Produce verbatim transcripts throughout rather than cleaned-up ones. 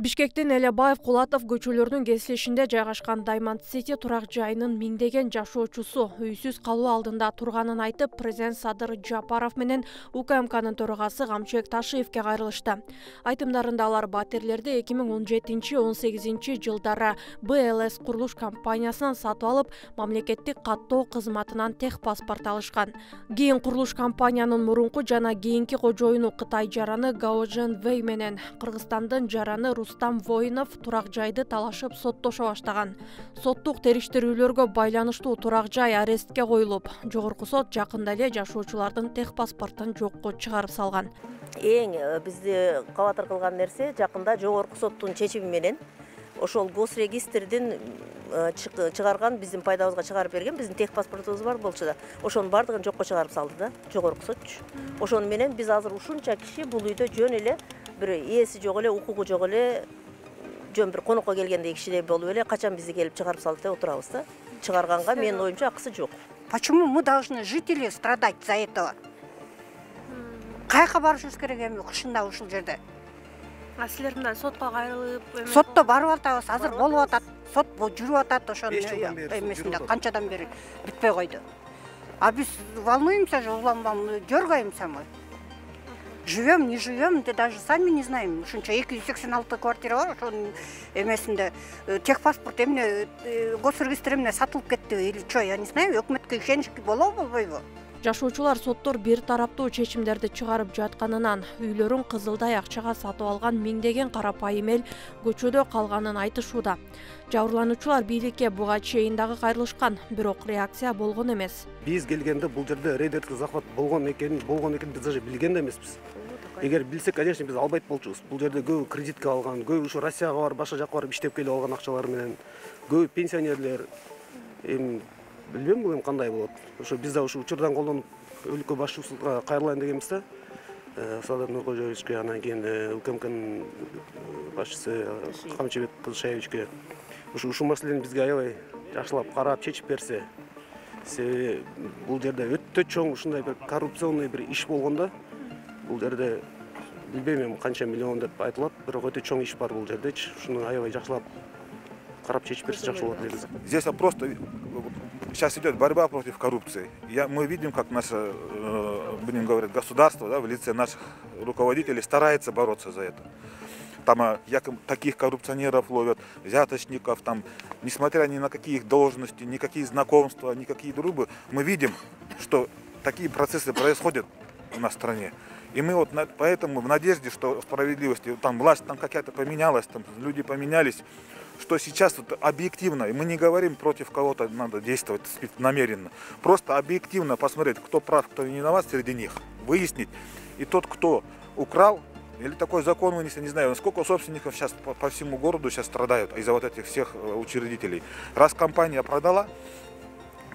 Бишкектин Элебаев Кулатов көчөлөрүнүн кесилишинде жайгашкан Diamond City турак жайынын миңдеген жашоочусу үйсүз калуу алдында турганын айтып, президент Садыр Жапаров менен УКМКнын төрагасы Камчыбек Ташиевке кайрылышты. Айтымдарында алар батирлерди эки миң он жетинчи — он сегизинчи жылдары Б Л С курулуш компаниясынан сатып алып, мамлекеттик каттоо кызматынан техпаспорт алышкан. Кийин курулуш компаниянын мурунку жана кийинки кожоюну Кытай жараны Гаожен Вэй менен Кыргызстандын жараны Рустам Воинов турак жайды талашып соттошо баштаган. Соттук териштирүүлөргө байланыштуу турак жай арестке коюлуп, жогорку сот жакында эле жашоочулардын техпаспортун жокко чыгарып салган. Эң бизди кабатыр кылган нерсе жакында жогорку соттун чечими менен ошол госрегистрдин чыгарган биздин пайдабызга чыгарып берген биздин техпаспортубуз бар болчу да, ошонун бардыгын жокко чыгарып салды да, жогорку сотчу. Ошону менен биз азыр ушунча киши бул үйдө жөн эле бир ээси жок эле, укугу жок эле, жөн бир конокко келгендей кишидей болуп эле качан бизди келип чыгарып салды деп отурабыз да. Чыгарганга менин оюмча акысы жок. Почему мы должны жители страдать за этого? Кайка барышыбыз керек эми кышында ушул жерде? А силер мындан сотко кайрылып, сотто барып атабыз, азыр болуп атат. Сот жүрүп атат ошонун эмесинде канчадан бери бүтпөй койду. А биз волнуемся же, уланбам, дергаемся мы. Живем, не живем, да даже сами не знаем. Ушунча эки жүз сексен алты квартира бар, ошонун эмесинде техпаспорт эмне госрегистр эмне сатылып кетти или что, я не знаю, өкмөткө ишенич болобу, болбойбу? Жашоочулар соттор бир тараптуу чечимдерди чыгарып жатканынан, үйлөрүн кызылдай акчага сатып алган миңдеген карапайым эл көчөдө калганын айтышууда. Жабырлануучулар бийликке буга чейин дагы кайрылышкан, бирок реакция болгон эмес. Биз келгенде бул жерде рейдердик захват болгон экен, болгон экен биз даже билген да эмеспиз. Эгер билсек, конечно, биз албайт болчубуз. Бул жерде көп кредитке алган, көп ушу Россияга барып, башка жакка барып иштеп келип алган акчалар менен, көп пенсионерлер, эми билбейм бул эми кандай болот. Ошо биз да ушу учурдан колдонуп өлкө башчысына кайрылайын дегенбиз да. Садыр Нуркожоевичке, анан кийин УКМКнын башчысы Камчыбек Кызышаевичке ушу ушул маселени бизге аябай жакшылап карап чечип берсе. Себеби бул жерде өтө чоң ушундай бир коррупционный бир иш болгон да. Бул жерде билбейм эми канча миллион деп айтылат, бирок өтө чоң иш бар бул жердечи. Ушуну аябай жакшылап карап чечип берсе жакшы болот негизи. Здесь просто сейчас идет борьба против коррупции. Я, мы видим, как наше, э, будем говорить, государство, да, в лице наших руководителей старается бороться за это. Там а, якобы таких коррупционеров ловят, взяточников, там, несмотря ни на какие их должности, никакие знакомства, никакие дружбы, мы видим, что такие процессы происходят у нас в стране. И мы вот на, поэтому в надежде, что справедливости, там власть там какая-то поменялась, там люди поменялись, что сейчас вот объективно, и мы не говорим против кого-то, надо действовать намеренно, просто объективно посмотреть, кто прав, кто не виноват среди них, выяснить. И тот, кто украл, или такой закон вынести, не знаю, сколько собственников сейчас по, по всему городу сейчас страдают из-за вот этих всех учредителей. Раз компания продала,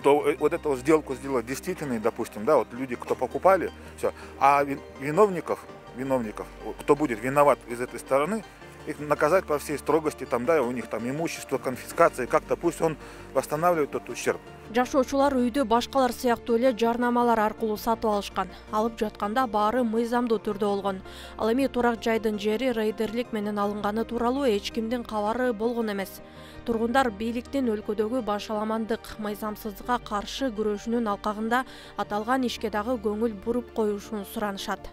то вот эту сделку сделать действительной, допустим, да, вот люди, кто покупали, все, а виновников, виновников, кто будет виноват из этой стороны, их наказать по всей строгости, там, да, у них там имущество, конфискация, как-то пусть он восстанавливает тот ущерб. Жашоочулар үйдү башкалар сыяктуу эле жарнамалар аркылуу сатып алышкан. Алып жатканда баары мыйзамдуу түрдө болгон. Ал эми турак жайдын жери рейдерлик менен алынганы тууралуу эч кимдин кабары болгон эмес. Тургундар бийликтин өлкөдөгү башаламандык, мыйзамсыздыкка каршы күрөшүнүн алкагында аталган ишке дагы көңүл буруп коюшун суранышат.